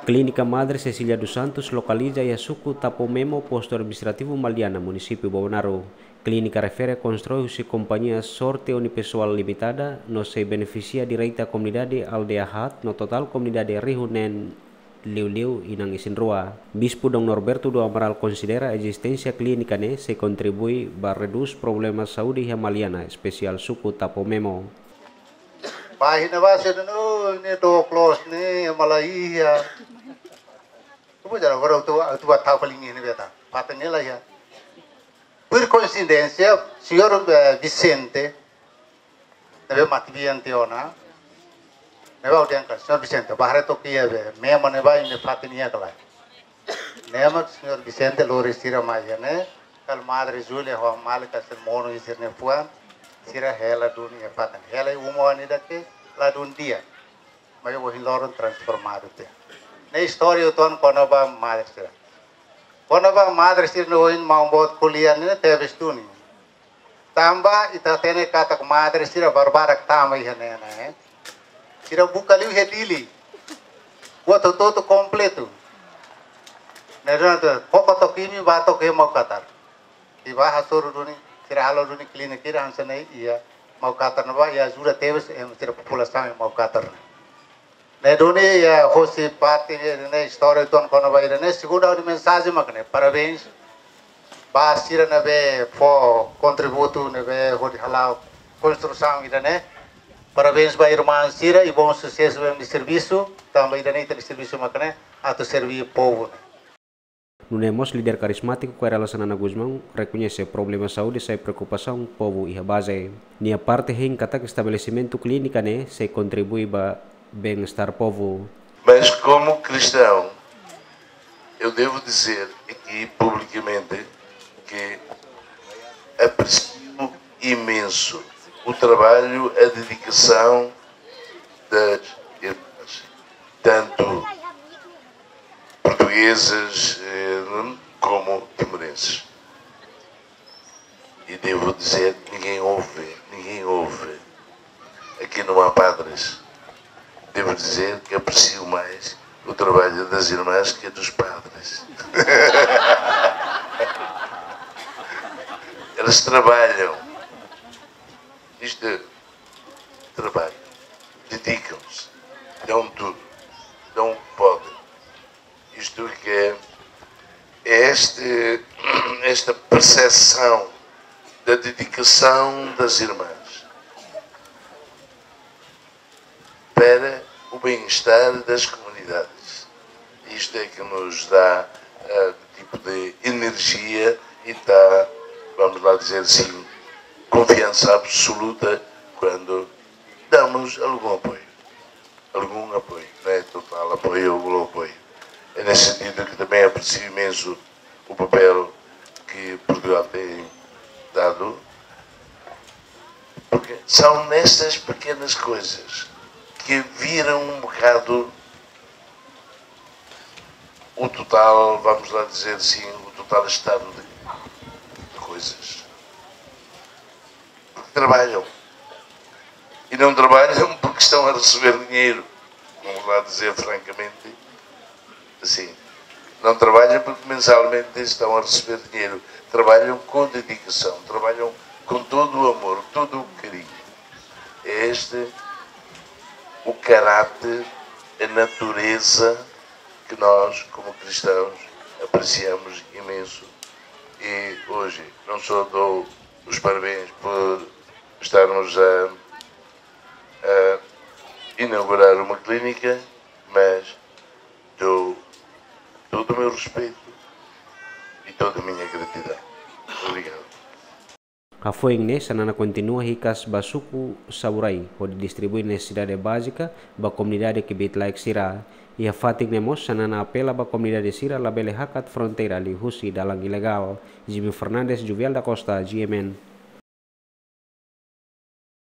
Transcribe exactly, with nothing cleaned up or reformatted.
Klínika Madre Cecília dos Santos lokaliza iha suku Tapomemo, postu administrativu Maliana, munisípiu Bobonaro. Klínika refere konstrui husi kompañia Sorte Unipessoal Limitada, no sei benefisia direta komunidade Aldeia Hat, no totál komunidade Rihu Neen Liuliu inan isin-rua. Bispu Dom Norberto do Amaral konsidera ezisténsia klínika ne'e sei kontribui ba redús problema saúde iha Maliana, espesiál suku Tapomemo. Pájina base no ne do close ne malaia. Como já agora eu tô, eu tô a tapa linha ne beta. Pata ne la ya. Por coincidência, senhor, eh, Vicente, ne'ebé mati bi antiona, ne'ebé audian ka, senhor Vicente, bahare to kia be, mema ne'ebá ine fatin ia kala. Ne'e mak senhor Vicente lori sira mai iha ne'e, kala Madre Júlia ho malika sira monu iha sira-nia fuan, sira hela duni iha fatin. Hela uma ida ke la dun di'ak. Mai ohin loron transformadu tiha. Ne'e istória uitoan kona-ba madre sira. Kona-ba madre sira ne'e ohin maun boot ko'alia ne'e tebes duni. Tanba ita hatene katak madre sira barbarak tama iha ne'e ne'e. Sira buka liu iha Dili. Buat hotu-hotu kompletu. Ne'e durante koko toki imi ba toki Maukatar. Iha ba hasoru duni, sira halo duni klínika ida hanesan ne'e iha Maukatar ne'ebá, iha ajuda tebes, em, sira populasaun iha Maukatar ne'e. Ne'e duni, eh, hosi parte, eh, ne'e istória uitoan kona-ba ida ne'e, segundu ha'u-nia mensajen mak ne'e, parabéns ba sira ne'ebé fó kontributu ne'ebé hodi hala'o konstrusaun ida ne'e. Parabéns ba irmaun sira i bom susesu ba imi-nia servisu, tanba ida ne'e ita-nia servisu mak ne'e, atu serví povu ne'e. Nune'e mós líder karizmátiku Kay Rala Xanana Gusmão rekoñese problema saúde sai preokupasaun povu iha baze. Nia parte hein katak estabelesimentu klínika ne'e sei kontribui ba bem-estar povu. Mas como cristão, eu devo dizer aqui publicamente que aprecio imenso o trabalho, a dedicação das irmãs, tanto portuguesas, eh, como timorenses. E devo dizer, ninguém ouve, ninguém ouve. Aqui não há padres. Devo dizer que aprecio mais o trabalho das irmãs que dos padres. Elas trabalham. Isto é trabalho. Dedicam-se. Dão tudo. Dão o que podem. Isto que é este, esta percepção da dedicação das irmãs para o bem-estar das comunidades. Isto é que nos dá, eh, tipo de energia e dá, vamos lá dizer assim, confiança absoluta quando damos algum apoio. Algum apoio, não é total apoio ou apoio. É nesse sentido que também aprecio imenso o papel que Portugal tem dado, porque são nestas pequenas coisas que viram um bocado o total, vamos lá dizer assim, o total estado de, de coisas. Porque trabalham. E não trabalham porque estão a receber dinheiro. Vamos lá dizer francamente assim. Não trabalham porque mensalmente estão a receber dinheiro. Trabalham com dedicação, trabalham com todo o amor, todo o carinho. É este o caráter, a natureza que nós, como cristãos, apreciamos imenso. E hoje não só dou os parabéns por estarmos a, a inaugurar uma clínica, mas dou todo o meu respeito e toda a minha gratidão. Obrigado. Hafoin ne'e, Xanana kontinua hikas ba suku Saburai, hodi distribui nesesidade bázika ba komunidade kbiit-laek sira. Iha fatin ne'e mós, Xanana apela ba komunidade sira labele hakat fronteira liuhusi dalan ilegál. Jimmy Fernandes, Juvial da Costa, G M N.